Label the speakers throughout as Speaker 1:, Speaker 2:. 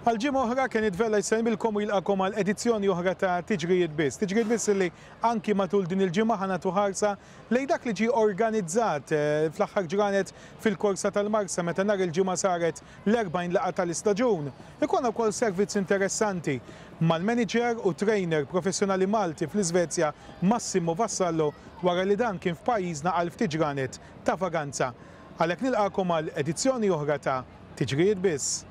Speaker 1: Għal ġimgħa oħra Kenneth Vella jsellmilkom u jilqakom għal edizzjoni oħra ta' Tiġrijiet Biss. Tiġrijiet Biss li anki matul din il-ġimgħa ħa nagħtu ħarsa lejn dak li ġie organizzat eh, fl-aħħar ġranet fil-korsa tal-Marsa meta nhar il-Ġimgħa saret l-40 laqgħa tal-istaġun. Ikollna wkoll servizz interessanti mal-manager u trainer professjonali Malti fl-Iżvezja Massimo Vassallo wara li dan kien f'pajjiżna għal ftit ġranet ta' vaganza. Għalhekk nilqagħkom għal edizzjoni oħra ta' Tiġrijiet Biss.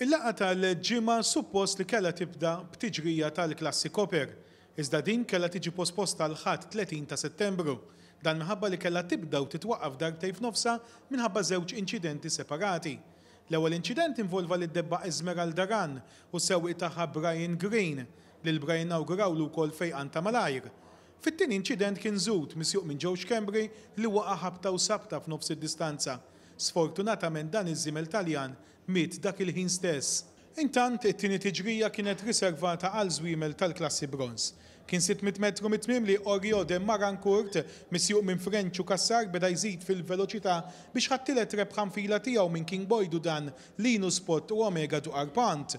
Speaker 1: Il-laqgħa tal-Ġimgħa suppost li kellha tibda b'tiġrija tal-klassi Copper, iżda din kellha tiġi posposta għall-Ħadd 30 ta' Settembru. Dan minħabba li kellha tibda u titwaqqaf darbtejn f'nofsha minħabba żewġ inċidenti separati. L-ewwel inċident involva lid-debba Esmeralda Run u s-sewwieq tagħha Brian Green. Lil Brian nawgurawlu wkoll fejqan ta' malajr. Fit-tieni inċident kien Zoot, misjuq minn Joe Schembri, li waqa' ħabta u sabta f'nofs id-distanza. Sfortunatament dan iż-żiemel Taljan miet dak il-ħin stess. Intant, it-tieni tiġrija kienet riservata għal żwiemel tal-klassi Bronze. Kien 600 metru mit-tmiem li Orio de Marancourt, misjuq minn Frenċu Cassar beda jżid fil-veloċità biex ħa t-tielet rebħa nfila tiegħu minn King Boy Dudan, Linus Pott u Omega du Arpent.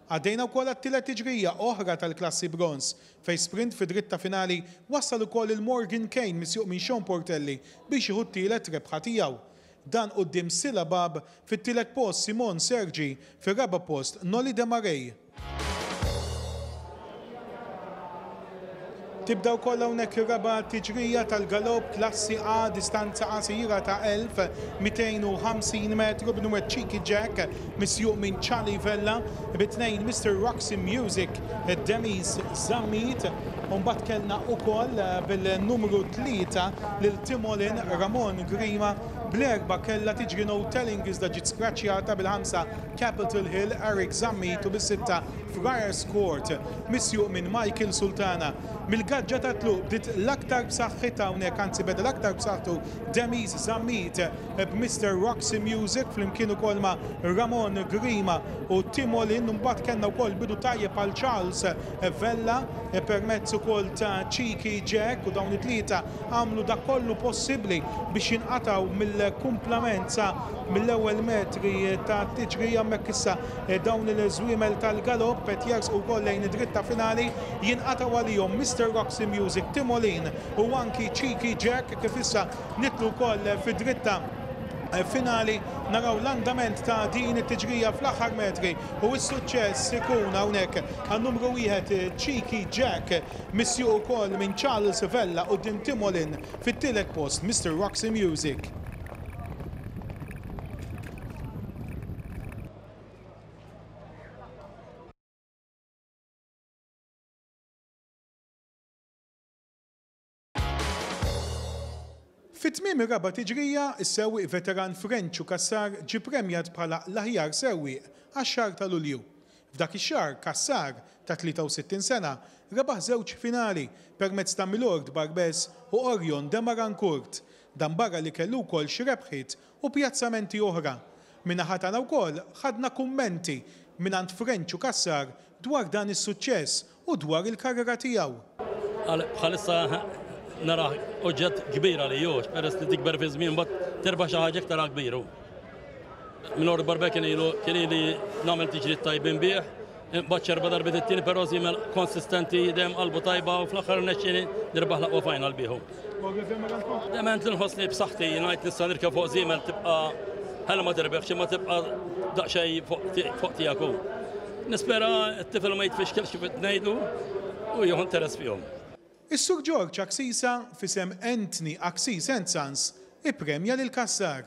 Speaker 1: Għaddejna wkoll għat-tielet tiġrija oħra tal-klassi Bronze, fejn sprint fid-dritta finali wassal ukoll lil Morgan Kane misjuq minn Sean Portelli biex jieħu t-tielet rebħa tiegħu. Dan quddiem Sila Bab fit-tielet post, Simon Sergi fir-raba' post, Nolly Demaray. Tibda wkoll hawnhekk ir-raba' tiġrija tal-galopp klassi A distanza qasira ta' 1250 metru b'numru Cheeky Jack misjuq minn Charlie Vella bi tnejn Mister Roxy Music Demis Zammit u mbagħad kellna wkoll bil-numru 3 lil Timolin Ramon Grima bl-erba' kellha tiġri No Telling iżda ġiet skraċjata bil-ħamsa Capitol Hill Eric Zammit u bis-sitta Friars Court, misjuq minn Michael Sultana. Mill-gaġġa tat-tluq bdiet l-aktar b'saħħitha hawnhekk, anzi beda l-aktar b'saħħtu Demis Zammit b'Mister Roxy Music flimkien ukoll ma' Ramon Grima u Timolin. Imbagħad kellna wkoll bidu tajjeb għal Charles Vella permezz ukoll ta' Cheeky Jack u dawn it-tlieta għamlu dak kollu possibbli biex jinqatgħu mill-kumplament sa mill-ewwel metri tat-tiġrija. Hemmhekk issa Dawn il-żwiemel tal-galopp qed jersqu wkoll lejn id-dritta finali, jinqatgħu għalihom Mister Roxy Music, Timolin u anki Cheeky Jack kif issa nidħlu wkoll fid-dritta finali naraw l-andament ta' din it-tiġrija fl-aħħar metri u s-suċċess ikun hawnhekk għan-numru wieħed Cheeky Jack misjuq ukoll minn Charles Vella quddiem Timolin fit-tielet post Mister Roxy Music. Fi tmiem ir-raba' tiġrija, is-sewwieq veteran Frenċu Cassar ġie premjat bħala l-aħjar sewwieq għax-xahar ta' Lulju. F'dak ix-xahar, Cassar, ta' 63 sena, rebaħ żewġ finali permezz ta' Milord Barbès u Orion de Marancourt. Dan barra li kellu wkoll xi rebħiet u pjazzamenti oħra. Min-naħa tagħna wkoll ħadna kummenti mingħand Frenċu Cassar dwar dan is-suċċess u dwar il-karriera tiegħu.
Speaker 2: Bħalissa narah oġġett kbir għalija hu, peress li tikber fiż-żmien mbagħad terbaħ xi ħaġa iktar kbir hu. Minn Barbe kien ilu kien ili nagħmel tiġriet tajbin bih, Imbagħad xerba darbiet it-tieni però żiemel konsistenti dejjem qalbu tajba u fl-aħħar rnexxieli nirbaħ l-aqwa final bieħu. Dement li nħossni b'saħħti ngħid nista' nirkeb fuq żiemel tibqa' ħela ma tirbeħx imma tibqa' daqsxejn fuq tiegħek hu. Nispera t-tifel ma jitfixkelx kif qed ngħidlu u jieħu interess fihom.
Speaker 1: Is-Sur George Axisa f'isem Anthony Axis and Sons ippremja lil Cassar.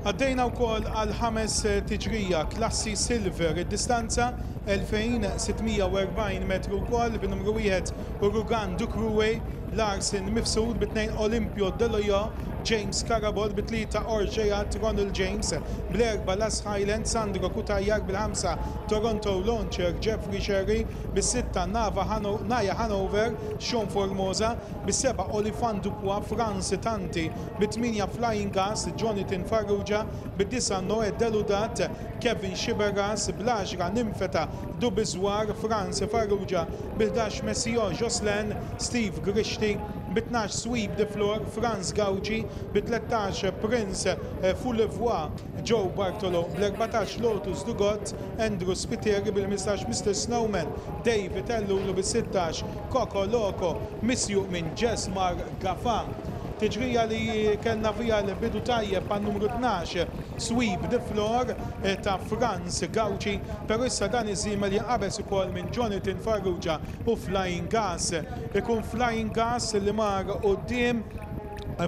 Speaker 1: Għaddejna wkoll għal ħames tiġrija klassi Silver, id-distanza 2640 metru wkoll bin-numru wieħed Urugan Ducruwe. Larsen Mifsud, bit-tnejn Olympio Deloyo, James Carabott, bit-tlieta Orgeat, Ronald James, bl-erba' Las Highland, Sandro Cutajar, bil-ħamsa Toronto Launcher, Jeffrey Scerri, bis-sitta Nava Naya Hanover, Sean Formosa, bis-seba' Olifant Dupois, Frans Tanti, bit-tmienja Flying Gas, Jonathan Farrugia, bid-disa' Noe Deludat, Kevin Sciberras, bl-għaxra Nympheta Dubizwar, Frans Farrugia, bil-11 Messio Jocelyn, Steve Grixti, bi-tnax Sweep the Floor, Frans Gauci, bi-13 Prince Foulevoix, Joe Bartolo, bl-14 Lotus Dugot, Andrew Spiteri, bil-15 Mister Snowman, David Ellul u bis-16 Coco Loco, misjuq minn Jesmar Gafa. Tiġrija li kellna fiha l-bidu tajjeb għan-numru 12 Sweep the Floor ta' Frans Gauci, però issa dan iż-żiemel jinqabeż ukoll minn Jonathan Farrugia u Flying Gas. Ikun Flying Gas li mar quddiem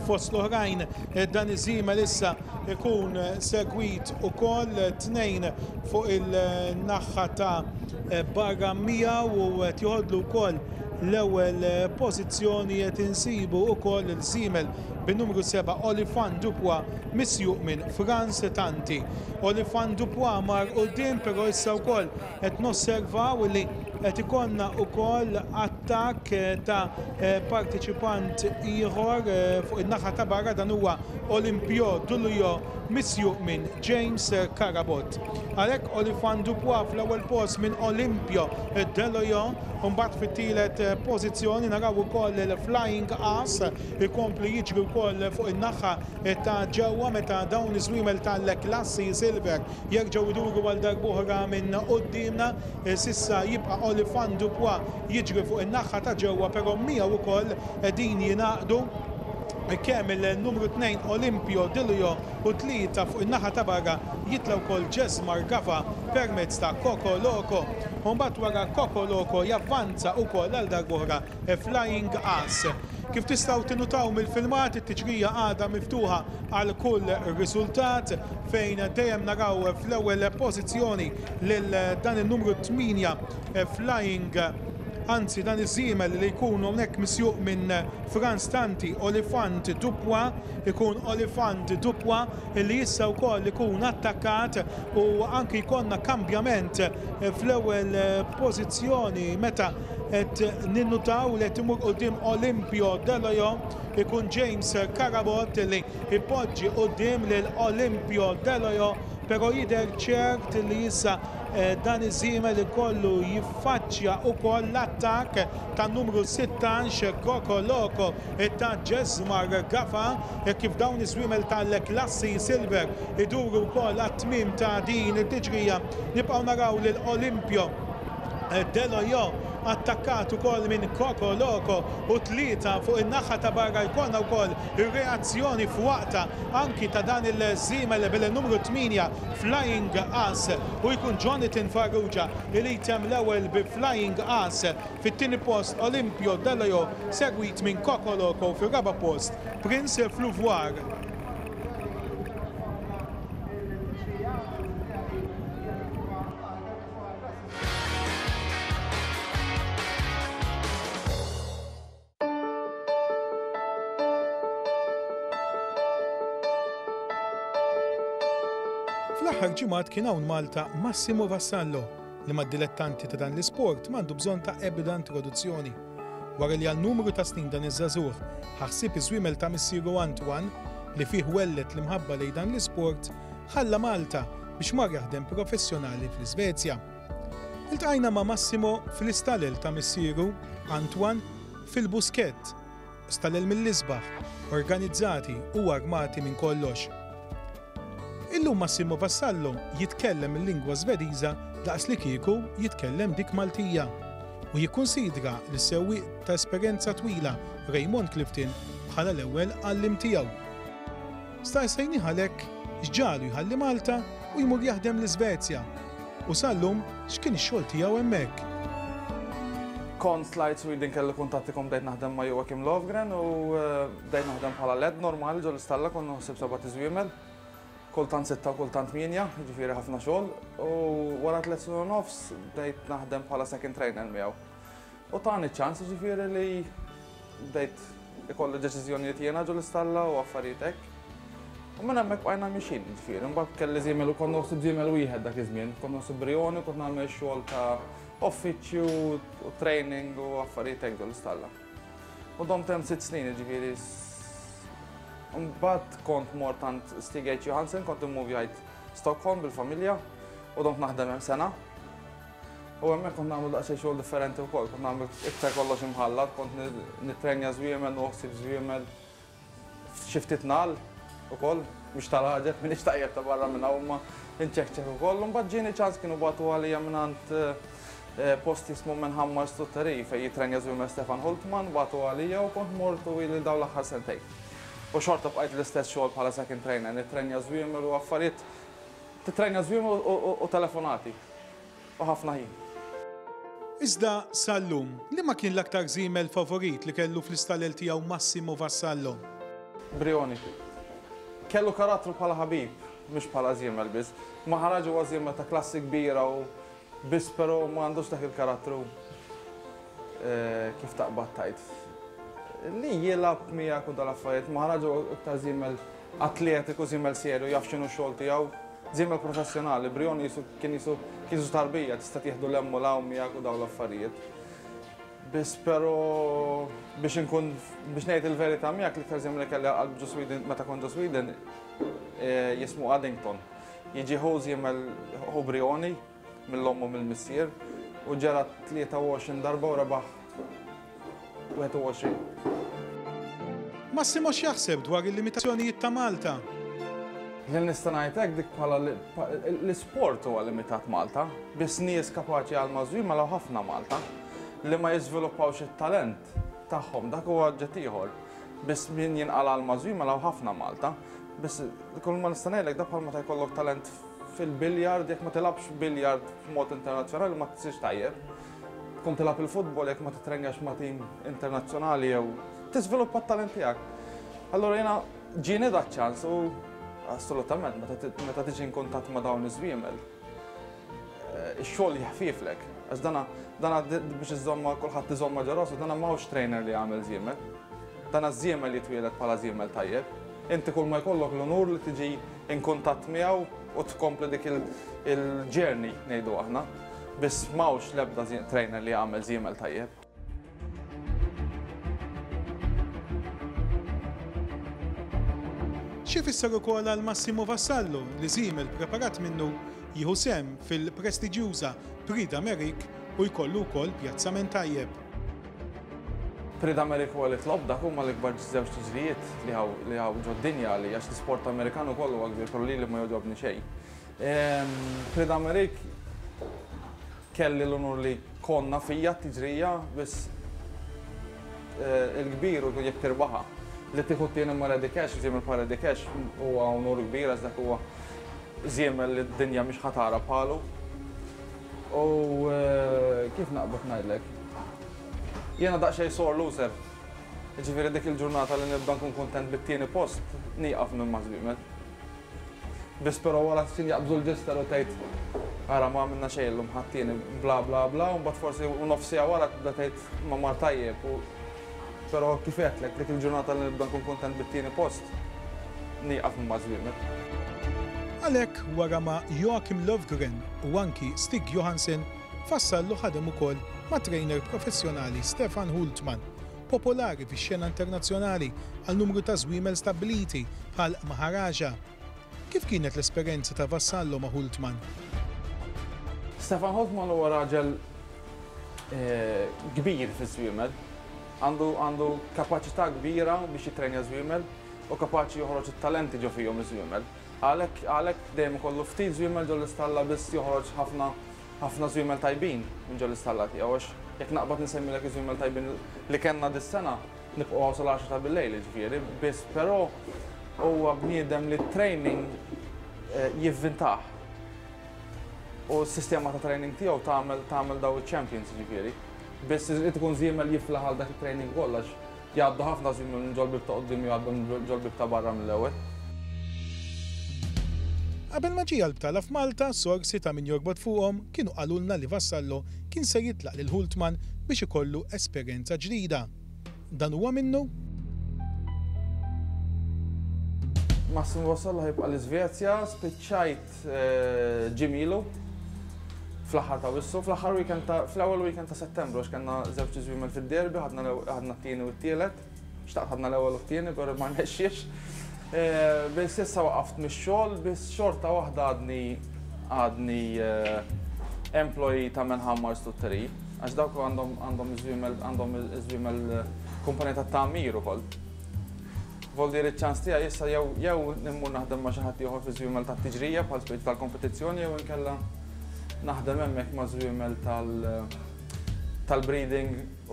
Speaker 1: fost l-oħrajn dan iż-żiemel issa ikun segwit ukoll tnejn fuq il-naħa ta' barra miegħu u qed joħodlu wkoll l-ewwel pożizzjoni qed insibu wkoll il-żiemel bin-numru 7 Olifant Dupois misjuq minn Frans Tanti. Olifant Dupois mar quddiem però issa wkoll qed nosservaw li qed ikollna wkoll attakk ta' parteċipant ieħor fuq in-naħa ta' barra, dan huwa Olympio Dulujo misjuq minn James Carabott. Għalhekk Olifant Dupois fl-ewwel post minn Olympio Deloyo, u mbagħad fit-tielet pożizzjoni naraw ukoll il-Flying Ass ikompli jiġri wkoll fuq in-naħa ta' ġewwa meta dawn iż-żwiemel tal-klassi Silver Jerġgħu jduru għal darb'oħra minn quddiemna. S'issa jibqa' Olifant Dupois jiġri fuq in-naħha ta' ġewwa però miegħu wkoll qegħdin jingħaqdu kemm il-numru 2 Olympio Dilio u 3 fuq in-naħa ta' barra jitla' wkoll Jesmar Gafa permezz ta' Coco Loco. U mbagħad wara Coco Loco javvanza wkoll għal darb'oħra Flying Ass. Kif tistgħu tinnutaw mill-filmat it-tiġrija għadha miftuħa għal kull riżultat fejn dejjem naraw fl-ewwel pożizzjoni lil dan in-numru 8 Flying anzi dan iż-żiemel li jkun hawnhekk misjuq minn Frans Tanti Olifant Dupois ikun Olifant Dupois li issa wkoll ikun attakkat u anki jkollna kambjament fl-ewwel pożizzjoni meta qed ninnutaw li qed imur quddiem Olympio Deloyo ikun James Carabott li jpoġġi quddiem lil Olympio Deloyo pero jidher ċert li issa dan iż-żiemel ikollu jiffaċċja wkoll l-attakk tan-numru 16 Coco Loco ta' Jesmar Gafa hekk kif dawn iż-żwiemel tal-klassi Silver iduru wkoll għat-tmiem ta' din it-tiġrija. Nibqgħu naraw lil Olympio Deloyo attakkat ukoll minn Coco Loco u tlieta fuq in-naħa ta' barra jkollna wkoll ir-reazzjoni f'waqtha anki ta' dan il-żiemel bil-numru 8 Flying Ass u jkun Jonathan Farrugia li jtemm l-ewwel bi Flying Ass fit-tieni post Olympio Deloyo segwit minn Coco Loco fir-raba' post Prince Fluvoir. Fl-aħħar ġimgħat kien hawn Malta Massimo Vassallo li mad-dilettanti ta' dan l-isport m'għandu bżonn ta' ebda introduzzjoni. Wara li għal numru ta' snin dan iż-żagħżugħ ħa ħsieb iż-żwiemel ta' missieru Antoine li fih welled l-imħabba lejn dan l-isport, ħalla Malta biex mar jaħdem professjonali fl-Iżvezja. Iltqajna ma' Massimo fl-istalel ta' missieru, Antoine, fil-Buskett, stalel mill-isbaħ, organizzati u armati minn kollox. Illum Massimo Vassallo jitkellem il-lingwa Żvediża daqslikieku jitkellem dik Maltija u jikkunsidra lis-sewwieq ta' esperjenza twila Raymond Clifton bħala l-ewwel għalliem tiegħu. Staqsejnih għalhekk x'ġagħlu jħalli Malta u jmur jaħdem l-Iżvezja u sal-lum x'kien ix-xogħol tiegħu hemmhekk.
Speaker 3: Kont tlajt Sweden kelli kuntatti kont bdejt naħdem ma' Joakim Lofgren u bdejt naħdem bħala led normali ġol-istalla kont naħseb sebat iżwiemel, kultant sitta u kultant tmienja, jiġifieri ħafna xogħol u wara tliet snin u nofs bdejt naħdem bħala second trainer miegħu. U tani ċ-ċans jiġifieri li bdejt ikolli deċiżjonijiet jiena ġol istalla u affarijiet hekk. U minn hemmhekk bqajna mixin, ġifieri, imbagħad kelli żiemel u kont noħsib żiemel wieħed dak iż-żmien, kont noħsib Brioni, kont nagħmel xogħol ta' uffiċċju u training u affarijiet hekk ġol istalla. U domt hemm sitt snin, ġifieri. Mbagħad kont mort għand Stig H. Johansen, kont immuvjajt Stockholm bil-familja u domt naħdem hemm sena. U hemmhekk kont nagħmlu daqsxejn xogħol differenti wkoll, kont nagħmlu iktar kollox imħallat, kont nittrenja żwiemel, noħsib żwiemel, xi ftit nagħal ukoll, mhux tal-għaġeb, m'iniex tajjeb ta' barra minn hawn imma nċekċek ukoll. U mbagħad ġieni ċans kienu bagħtu għalija mingħand post jismu Menhammar Stutteri fejn jittrenja żwiemel Stefan Hultman, bagħtu għalija u kont mort u ili dawn l-aħħar sentejn. U xorta bqajt l-istess xogħol bħala second trainer, nittrenja żwiemel u affarijiet, tittrenja żwiemel u telefonati. U ħafna ħin.
Speaker 1: Iżda sal-lum, liema kien l-aktar żiemel favorit li kellu fl-istalel tiegħu Massimo Vassallo?
Speaker 3: Brioni. Kellu karattru bħala ħabib, mhux bħala żiemel biss. Maharaj huwa żiemel ta' klassi kbira u biss però ma għandux dak il-karattru kif taqbad tgħid. Li jilgħab miegħek u dal-affarijiet. Maharaj huwa iktar żiemel atletiku, żiemel serju, jaf x'inhu x-xogħol tiegħu. Żiemel professjonali, Brioni jisu kien jisu kien jisu tarbija, tista' tieħdu 'l hemm u 'l hawn miegħek u dawn l-affarijiet. Biss però biex inkun biex ngħid il-verità miegħek l-iktar żiemel li kelli għal qalb ġo Sweden meta kont ġo Sweden jismu Addington. Jiġi ħu żiemel ħu Brioni mill-omm u mill-missier u ġera 23 darba u rebaħ 21.
Speaker 1: Massimo x'jaħseb dwar il-limitazzjonijiet ta' Malta?
Speaker 3: Li nista' ngħid hekk dik bħala l-isport huwa limitat Malta, biss nies kapaċi għal mażwim għal ħafna Malta li ma jiżviluppawx it-talent tagħhom dak huwa oġġett ieħor. Biss min jinqala' għal mażwim għal ħafna Malta. Biss kull ma nista' ngħidlek dak bħal meta jkollok talent fil-biljard jekk ma tilgħabx biljard f'mod internazzjonali ma tsirx tajjeb. Tkun tilgħab il-futbol jekk ma titrenjax ma' tim internazzjonali jew tiżviluppa t-talent tiegħek. Allura jiena ġieni da ċans u assolutament meta tiġi in kuntatt ma' dawn iż-żwiemel eh, ix-xogħol jeħfiflek. Għax dana dana biex iżomma kulħadd iżomma ġo rasu, dana m'hawnx trainer li jagħmel żiemel. Dana żiemel jitwieled bħala żiemel tajjeb. Inti kull ma jkollok l-unur li tiġi in kuntatt miegħu u tkompli dik il-journey ngħidu aħna. Biss m'hawnx l-ebda trainer li jagħmel żiemel tajjeb.
Speaker 1: Xi jfisser ukoll għal Massimo Vassallo li żiemel preparat minnu jieħu sehem fil-prestiġjuża Prix d'Amérique u jkollu wkoll pjazzament tajjeb.
Speaker 3: Prix d'Amérique u Elite Lop dak huma l-ikbar żewġ tiġrijiet li hawn li hawn ġod-dinja għalija għax l-isport Amerikan ukoll huwa kbir però lili ma jogħġobni xejn. Prix d'Amérique kelli l-unur li konna fija t-tiġrija biss il-kbir u jekk tirbaħha. Li tieħu t-tieni ma' Ready Cash, żiemel bħal Ready Cash huwa unur kbir għax dak huwa żiemel li d-dinja mhix ħa tara bħalu. U kif naqbad ngħidlek? Jiena daqsxejn sore loser. Jiġifieri dik il-ġurnata li nibda nkun kuntent bit-tieni post, nieqaf minn ma' żwiemel. Biss però wara ftit jaqbżu l-ġister u tgħid ara ma għamilna xejn illum ħadd tieni bla bla bla u mbagħad forsi u nofs siegħa wara tibda tgħid ma mar tajjeb u però kif għedtlek dik il-ġurnata li nibda nkun kuntent bit-tieni post nieqaf minn maż-żwiemel.
Speaker 1: Għalhekk wara ma' Joakim Lövgren u anki Stig Johansson, Vassallo ħadem ukoll mat-trainer professjonali Stefan Hultman popolari fix-xena internazzjonali għal numru ta' żwiemel stabbiliti bħal Maharaja. Kif kienet l-esperjenza ta' Vassallo ma' Hultman?
Speaker 3: Stefan Hultman huwa raġel kbir fiż-żwiemel. Għandu għandu kapaċità kbira biex jittrenja żwiemel u kapaċi joħroġ it-talenti ġo fihom iż-żwiemel. Għalhekk għalhekk dejjem ikollu ftit żwiemel ġol-istalla biss joħroġ ħafna ħafna żwiemel tajbin minn ġol-istalla tiegħu għax jekk naqbad insemmilek iż-żwiemel tajbin li kellna dis-sena nibqgħu hawn sal-għaxra ta' billejl jiġifieri, biss però huwa bniedem li t-training jivvintah. U s-sistema ta' training tiegħu tagħmel tagħmel daw iċ-champions jiġifieri. Biss irid ikun żiemel jiflaħ għal dak it-training ukoll għax Jgħaddu ħafna żmien minn ġol-bieb ta' quddiem u jgħaddu minn ġol-bieb ta' barra mill-ewwel.
Speaker 1: Qabel ma ġie għall-btala f'Malta, sorsi ta' min jorbot fuqhom kienu qalulna li Vassallo kien se jitlaq lil Hultman biex ikollu esperjenza ġdida. Dan huwa minnu?
Speaker 3: Massimo Vassallo ħa jibqa' l-Iżvezja, spiċċajt ġimgħa ilu fl-aħħar ta' Awwissu, fl-aħħar weekend ta' fl-ewwel weekend ta' Settembru għax kellna żewġ iżwiemel fid-derby, ħadna t-tieni u t-tielet. Xtaqt ħadna l-ewwel u t-tieni, però ma rnexxiex. Biss issa waqaft mix-xogħol, biss xorta waħda għadni għadni employee ta' Menhammar Stutteri, għax dawk għandhom għandhom iż-żwiemel għandhom iż-żwiemel kumpanija ta' tagħmir ukoll. Voldieri ċ-ċans tiegħi issa jew jew immur naħdem ma' xi ħadd ieħor fi żwiemel tat-tiġrija bħal speċi tal-kompetizzjoni jew inkella naħdem hemmhekk ma' żwiemel tal tal-breeding u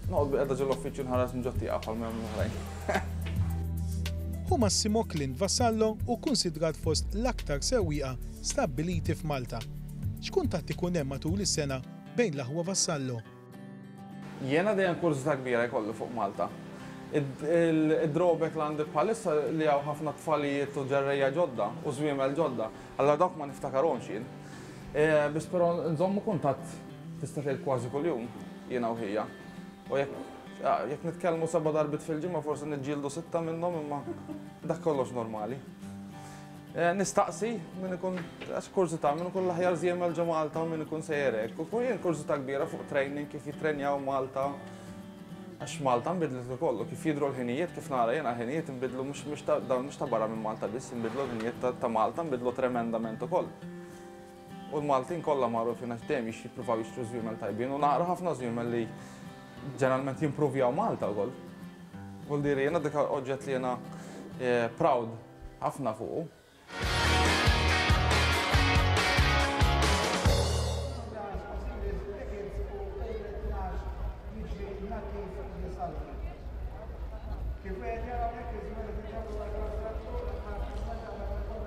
Speaker 3: noqgħod bilqiegħda ġol-uffiċċju nħares minn ġot-tieqa bħal ma jagħmlu l-oħrajn.
Speaker 1: Hu Massimo Clint Vassallo hu kkunsidrat fost l-aktar sewwieqa stabbiliti f'Malta. X'kuntatt ikun hemm matul is-sena bejn l-aħwa Vassallo?
Speaker 3: Jiena dejjem kurżità kbira jkolli fuq Malta. Id-drawback li għandi bħalissa li hawn ħafna tfalijiet u ġerrejja ġodda u żwiemel ġodda, allura dawk ma niftakarhomx jien. Biss però nżommu kuntatt tista' tgħid kważi kuljum jiena u ħija. U jekk jekk nitkellmu seba' darbiet fil-ġimgħa forsi niġġieldu sitta minnhom imma dak kollox normali. Nistaqsi min ikun għax kurżità min ikun l-aħjar żiemel ġo Malta u min ikun sejjer hekk. U jien kurżità kbira fuq training kif jittrenjaw Malta. Għax Malta nbidlet ukoll u kif jidhru l-ħinijiet kif nara jiena l-ħinijiet inbidlu mhux mhux ta' dawn mhux ta' barra minn Malta biss inbidlu l-ħinijiet ta' Malta nbidlu tremendament ukoll. U l-Maltin kollha magħrufin għax dejjem jippruvaw jixtru żwiemel tajbin u nara ħafna żwiemel li ġeneralment jimpruvjaw Malta wkoll. Vuol dire jiena dik oġġett li jiena proud ħafna fuqu.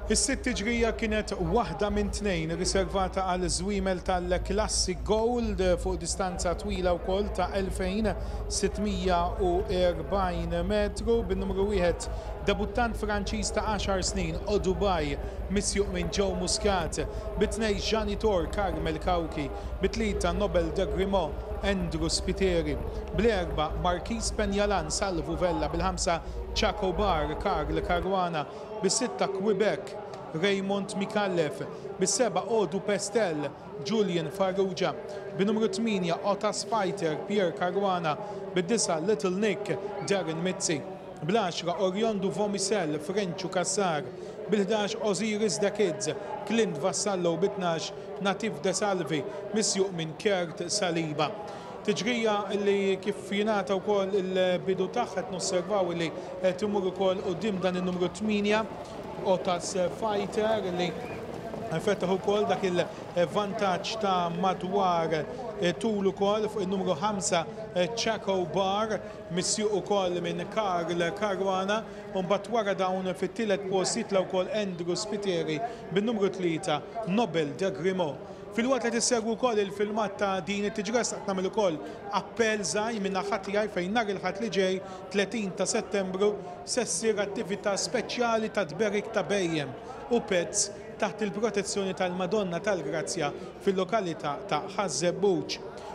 Speaker 1: Is-sitt tiġrija kienet waħda minn tnejn riservata għal żwiemel tal-klassi Gold fuq distanza twila wkoll ta' 2640 metru bin-numru wieħed debuttant Franċiż ta' għaxar snin Odubai misjuq minn Joe Muscat, bi tnejn Janitor Carmel Cauchi, bi tlieta Nobel de Grimaud Andrew Spiteri, bl-erbgħa Marquis Penjalan Salvu Vella, bil-ħamsa Chaco Bar Karl Caruana, bis-sitta Quebec Raymond Micallef, bis-seba' Odu Pestel Julian Farrugia, bin-numru tmienja Otas Fighter Pierre Caruana, bid-disa' Little Nick Darren Mizzi, bl-għaxra Oriondo Vomisel Frenċu Cassar, bil-ħdax Osiris The Kids Clint Vassallo u bit-tnax Natif De Salvi misjuq minn Kurt Saliba. Tiġrija li kif jingħata wkoll il-bidu tagħha qed nosservaw li qed imur ukoll quddiem dan in-numru 8 Otas Fighter li fetaħ ukoll dak il-vantaġġ ta' madwar tul ukoll fuq in-numru 5 Chaco Bar misjuq ukoll minn Karl Caruana u mbagħad wara dawn fit-tielet post jitla' wkoll Andrew Spiteri bin-numru 3 Nobel de Grimaud. Filwaqt li qed issegwu wkoll il-filmat ta' din it-tiġrija xtaqt nagħmel ukoll appell żgħir minn naħa tiegħi fejn nhar il-Ħadd li ġej, 30 ta' Settembru, se ssir attività speċjali ta' tberik ta' bhejjem u pets taħt il-protezzjoni tal-Madonna tal-Grazzja fil-lokalità ta' Ħaż-Żebbuġ.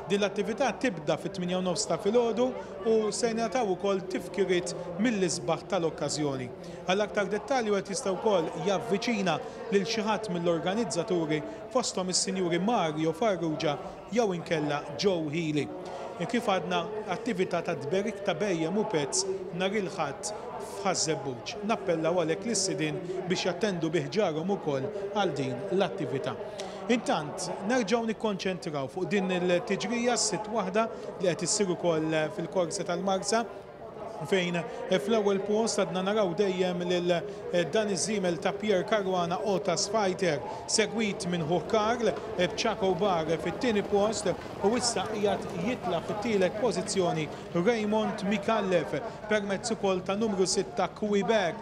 Speaker 1: Din l-attività tibda fit-tmienja u nofs ta' filgħodu u se jingħataw ukoll tifkiriet mill-isbaħ tal-okkażjoni. Għal aktar dettalji wieħed jista' wkoll javviċina lil xi ħadd mill-organizzaturi fosthom is-Sinjuri Mario Farrugia jew inkella Joe Hili. Kif għadna, attività ta' tberik ta' bhejjem u pets nhar il-Ħadd f'Ħaż-Żebbuġ. Nappellaw għalhekk lis-sidien biex jattendu bi ħġarhom ukoll għal din l-attività. Intant, nerġgħu nikkonċentraw fuq din il-tiġrija, s-sitt waħda li qed issir ukoll fil-Korsa tal-Marsa, fejn fl-ewwel post għadna naraw dejjem lil dan iż-żiemel ta' Pierre Caruana Otas Fighter, segwit minn ħuh Karl b'Chaco Bar fit-tieni post u issa qiegħed jitla' fit-tielet pożizzjoni Raymond Micallef permezz ukoll ta' numru 6 Quebec.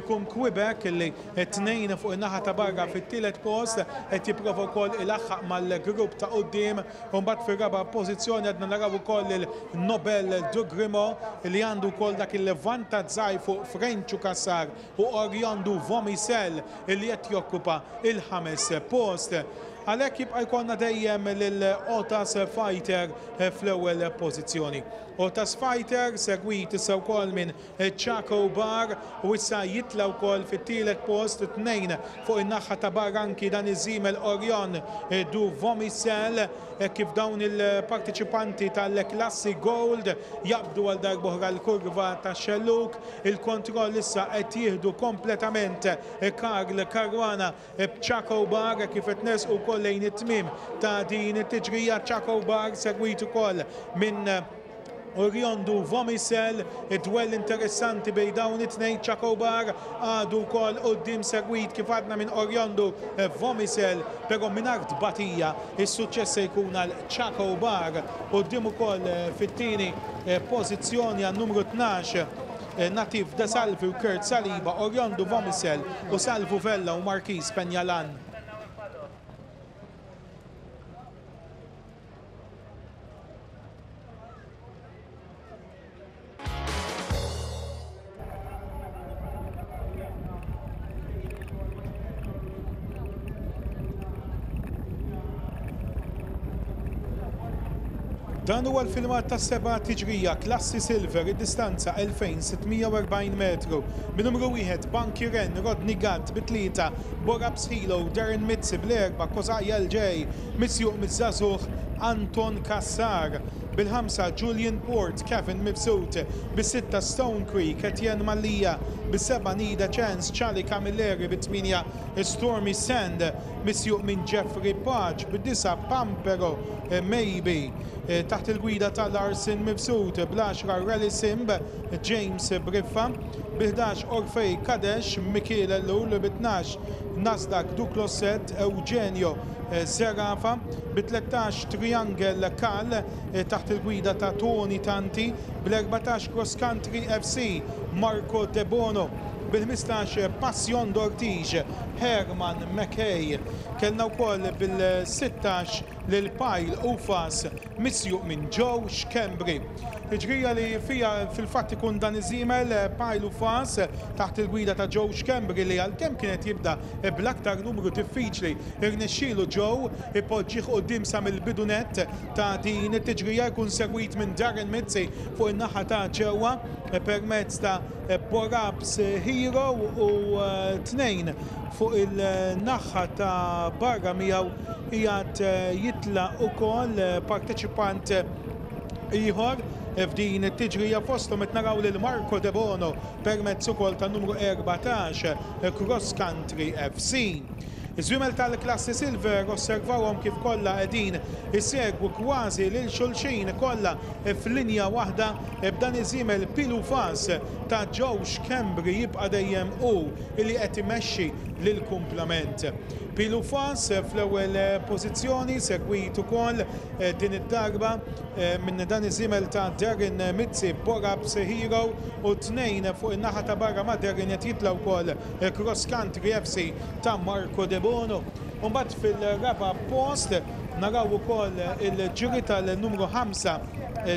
Speaker 1: Ikun Quebec li t-tnejn fuq in-naħa ta' barra fit-tielet post qed jipprova wkoll ilaħħaq mal-grupp ta' quddiem U mbagħad fir-raba' pożizzjoni għadna naraw ukoll lil Nobel du Grimaud li għandu wkoll dak il-vantaġġ żgħir fuq Frenċu Cassar u Oriondu Vomisel li qed jokkupa il-ħames post. Għalhekk jibqa' jkollna dejjem lil Otas Fighter fl-ewwel pożizzjoni. Otas Fighter segwit issa wkoll minn Chaco Bar u issa jitla' wkoll fit-tielet post tnejn fuq in-naħa ta' barra anki dan iż-żiemel Orion du Vomicel hekk kif dawn il-parteċipanti tal-klassi Gold jaqbdu għal darb'oħra l-kurva tax-xellug. Il-kontroll issa qed jieħdu kompletament Karl Caruana b'Chaco Bar hekk kif qed nersqu wkoll lejn it-tmiem ta' din it-tiġrija. Chaco Bar segwit ukoll minn Oriondu Vomicel, id-dwell interessanti bejn dawn it-tnejn. Chaco Bar għadu wkoll quddiem segwit kif għadna minn Oriondu Vomicel, però mingħajr tbatija is-suċċess se jkun għal Chaco Bar. Quddiem ukoll fit-tieni pożizzjoni għan-numru 12 Natif De Salvi u Kurt Saliba, Oriondu Vomicel u Salvu Vella u Marquis Penjalan. Dan huwa l-filmat tas-seba' tiġrija Klassi Silver, id-distanza 2640 metru. Bin-numru wieħed Banki Ren, Rodney Gatt, bit-tlieta Borab Sħilo, Darren Mizzi, bl-erba' Kozaj LJ, misjuq miż-żagħżugħ Anton Cassar, bil-ħamsa Julian Port, Kevin Mifsud, bis-sitta Stone Creek, Etienne Mallia, bis-seba' Need a Chance, Charlie Camilleri, bit-tmienja Stormy Sand, misjuq minn Jeffrey Pace, bid-disa' Pampero Maybe, taħt il-gwida ta' Larson Mifsud, bl-għaxra Rally Simb, James Briffa, bil-11 Orfei Kadesh, Mikiel Ellul, bit-12 Nasdaq Duclosset, Eugenio Zerafa, bit-13 Triangle Kal, taħt il-gwida ta' Tony Tanti, bl-14 Cross Country FC, Marco Debono, bil-15 Passion d'Ortige, Herman McKay. Kellna wkoll bil-16 lil Pile Ufas misjuq minn Joe Schembri. Tiġrija li fiha fil-fatt ikun dan iż-żiemel Pile Ufas taħt il-gwida ta' Joe Schembri li għalkemm kien qed jibda bl-aktar numru diffiċli rnexxielu Joe ipoġġih quddiem sa mill-bidu nett ta' din it-tiġrija jkun segwit minn Darren Mizzi fuq in-naħa ta' ġewwa permezz ta' Borabs Hero u tnejn fuq il-naħa ta' barra miegħu qiegħed jitla' ukoll parteċipant ieħor f'din it-tiġrija fosthom qed naraw lil Marco Debono permezz ukoll tan-numru 14 Cross Country FC. Iż-żwiemel tal-klassi Silver osservawhom kif kollha qegħdin isegwu kważi lil xulxin kollha f'linja waħda b'dan iż-żiemel Pilu Fas ta' Joe Schembri jibqa' dejjem hu li qed imexxi lill-kumplament. Pilu Fas fl-ewwel pożizzjoni segwit ukoll din id-darba minn dan iż-żiemel ta' Darren Mizzi Borabs Hero u tnejn fuq in-naħa ta' barra ma' Darren qed jitla' wkoll Cross Country FC ta' Marco Debono. U mbagħad fil-raba' post naraw ukoll il-ġiri tal-numru 5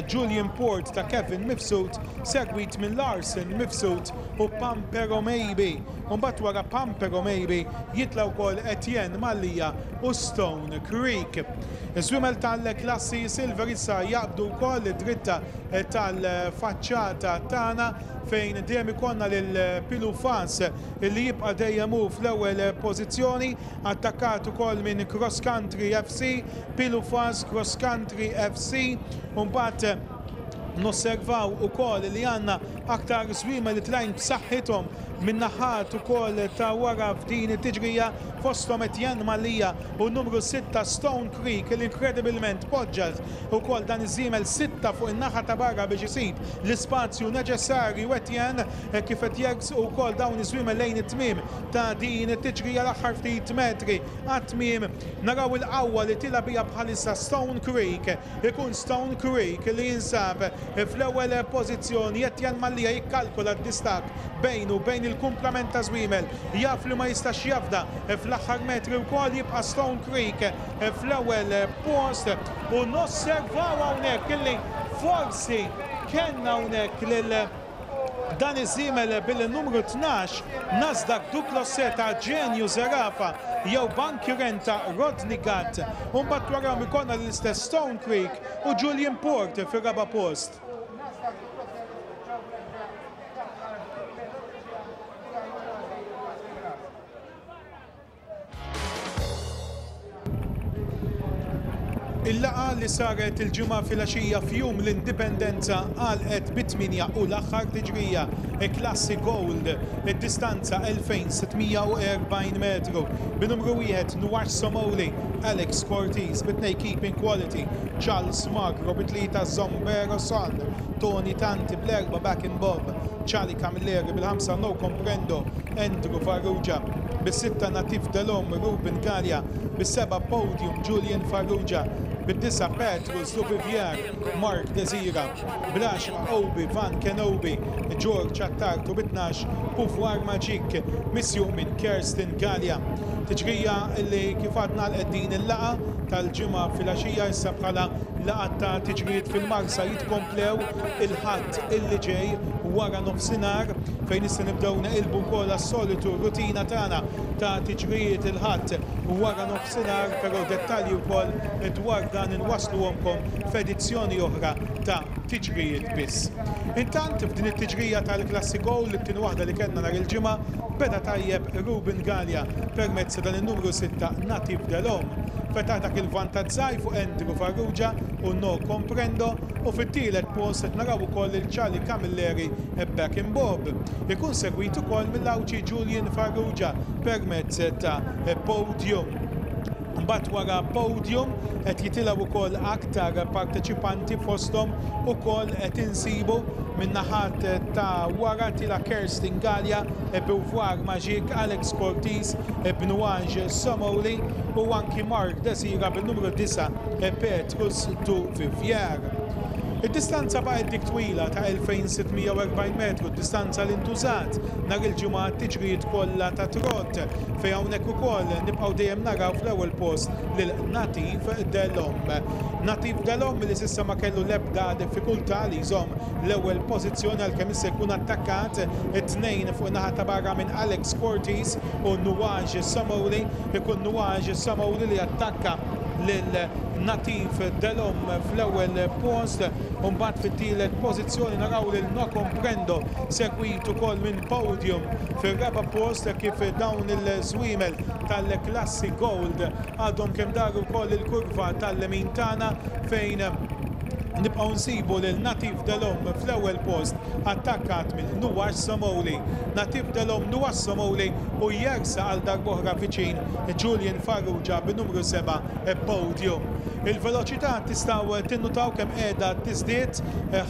Speaker 1: Julian Port ta' Kevin Mifsud segwit minn Larson Mifsud u Pampero Maybe. U mbagħad wara Pampero Maybe jitla' wkoll Etienne Mallia u Stone Creek. Iż-żwiemel tal-klassi Silver issa jaqbdu wkoll id-dritta tal-faċċata tagħna fejn dejjem ikollna lil Pilu Fas li jibqa' dejjem hu fl-ewwel pożizzjoni, attakkat ukoll minn Cross Country FC, Pilu Fas, Cross Country FC, u mbagħad nosservaw ukoll li għandna aktar żwiemel li tlajn b'saħħithom min-naħat ukoll ta' wara f'din it-tiġrija fosthom Etienne Mallia u n-numru 6 Stone Creek li inkredibilment poġġa ukoll dan iż-żiemel 6 fuq in-naħa ta' barra biex isib l-ispazju neċessarju Etienne hekk kif qed jersqu wkoll dawn iż-żwiemel lejn it-tmiem ta' din it-tiġrija l-aħħar ftit metri għat-tmiem naraw il-qawwa li tilgħa biha bħalissa Stone Creek Ikun Stone Creek li jinsab fl-ewwel pożizzjoni. Etienne Mallia jikkalkula d-distakk bejnu u bejn il-kumplament ta' żwiemel. Jaf li ma jistax jafda fl-aħħar metri wkoll jibqa' Stone Creek fl-ewwel post u nosservaw hawnhekk illi forsi kellna hawnhekk lil. Dan iż-żiemel bil-numru 12 Nasdaq Duclosset ta' Genio Zerafa jew Banki Renta Rodney Gatt. U mbagħad warahom ikollna l-istess Stone Creek u Julian Port fir-raba' post. Il-laqgħa li saret il-Ġimgħa filgħaxija f'Jum l-Indipendenza għalqet bit-tmienja u l-aħħar tiġrija, Klassi Gold, id-distanza 2640 metru, bin-numru wieħed Nuash Somoli, Alex Cortis, bit-tnejn Keeping Quality, Charles Magro, bit-tlieta Zombero Son, Tony Tanti, bl-erbgħa Back in Bob, Charlie Camilleri, bil-ħamsa No Comprendo, Andrew Farrugia, bis-sitta Natif Delhomme Ruben Galea, bis-seba' Podium Julian Farrugia, bid-disa' Petrus Duvivier Mark Desira, bl-għaxra Obi Van Kenobi George Attard u bit-tnax Pouvoir Magique misjuq minn Kirsten Galea. Tiġrija li kif għadna għalqet din il-laqgħa tal-Ġimgħa filgħaxija issa bħala laqgħat ta' tiġrijiet fil-Marsa jitkomplew il-Ħadd illi ġej wara nofsinhar fejn issa nibdew neqilbu wkoll għas-solitu rutina tagħna ta' tiġrijiet il-Ħadd wara nofsinhar, però dettalji wkoll dwar dan inwassluhomkom f'edizzjoni oħra ta' Tiġrijiet Biss. Intant f'din it-tiġrija tal-Klassi Gold, it-tieni waħda li kellna nhar il-Ġimgħa, beda tajjeb Ruben Galea permezz ta' dan in-numru sitta Natif Delhomme. Fetaħ dak il-vantaġġ żgħir fuq Andrew Farrugia u No Comprendo u fit-tielet post qed naraw ukoll lil Charlie Camilleri Back in Bob. Ikun segwit ukoll mill-Għawdxi Julian Farrugia permezz ta' Podium. Imbagħad wara Podium qed jitilgħu wkoll aktar parteċipanti fosthom ukoll qed insibu min-naħat ta' wara tila' Kerstin Galea, Beauvoir Magique, Alex Cortis, Bnuage Somoli u anki Mark Desira bin-numru 9 Petrus du Vivier. Id-distanza baqgħet dik twila ta' 2640 metru, distanza li ntużat nhar il-Ġimgħa għat-tiġrijiet kollha ta' trot, fejn hawnhekk ukoll nibqgħu dejjem naraw fl-ewwel post lil Natif Delhomme. Natif Delhomme li s'issa ma kellu l-ebda diffikultà li jżomm l-ewwel pożizzjoni għalkemm issa jkun attakkat it-tnejn fuq in-naħa ta' barra minn Alex Cortis u Nuage Somoli. Ikun Nuage Somoli li attakka lil Natif Delhomme fl-ewwel post u mbagħad fit-tielet pożizzjoni naraw lil No Comprendo segwit ukoll minn Podium fir-raba' post hekk kif dawn il-żwiemel tal-klassi Gold għadhom kemm daru wkoll il-kurva tal-lemin tagħna fejn nibqgħu nsibu lil Natif Delhomme fl-ewwel post attakkat minn Nuash Somoli. Natif Delhomme, Nuash Somoli u jersaq għal darb'oħra viċin Julian Farrugia bin-numru 7 Podium. Il-veloċità tistgħu tinnutaw kemm qiegħda tiżdied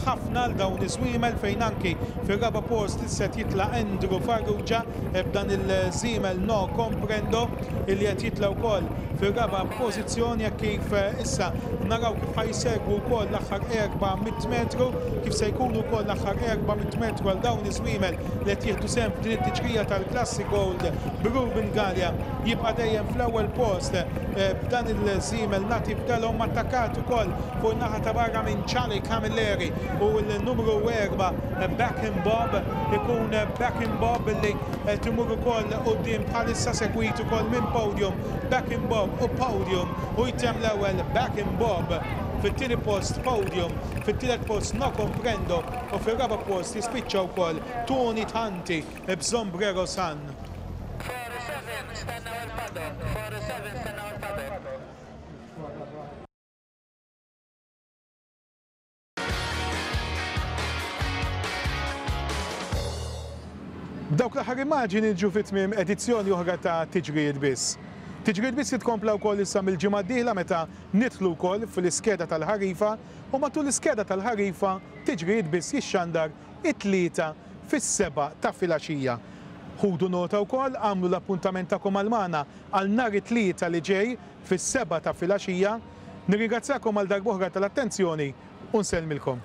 Speaker 1: ħafna għal dawn iż-żwiemel fejn anki fir-raba' post issa qed jitla' Andrew Farrugia b'dan il-żiemel No Comprendo illi qed jitla' wkoll fir-raba' pożizzjoni hekk kif issa naraw kif ħa jsegwu wkoll l-aħħar 400 metru, kif se jkunu wkoll l-aħħar 400 metru għal dawn iż-żwiemel li qed jieħdu sehem f'din it-tiġrija tal-Klassi Gold b'Ruben Galea jibqa' dejjem fl-ewwel post b'dan il-żiemel Natif Delhomme attakkat ukoll fuq in-naħa ta' barra minn Charlie Camilleri u l-numru 4 Back in Bob ikun Back in Bob li qed imur ukoll quddiem bħalissa segwit ukoll minn Podium. Back in Bob u Podium u jtemm l-ewwel Back in Bob fit-tieni post Podium, fit-tielet post No Comprendo u fir-raba' post jispiċċa wkoll Tony Tanti b'Sombrero San.
Speaker 4: 47 stennew il-paddock, 47 stennew il-paddock.
Speaker 1: B'dawk l-aħħar immaġini niġu fi tmiem edizzjoni oħra ta' Tiġrijiet Biss. Tiġrijiet Biss jitkompla wkoll issa mill-ġimgħa d-dieħla meta nidħlu wkoll fl-iskeda tal-ħarifa u matul l-iskeda tal-ħarifa Tiġrijiet Biss jixxandar it-Tlieta fis-sebgħa ta' filgħaxija. Ħudu nota wkoll, agħmlu l-appuntament tagħkom għal magħna għal nhar it-Tlieta li ġej fis-sebgħa ta' filgħaxija. Nirringrazzjakom għal darb'oħra tal-attenzjoni u nsellmilkom.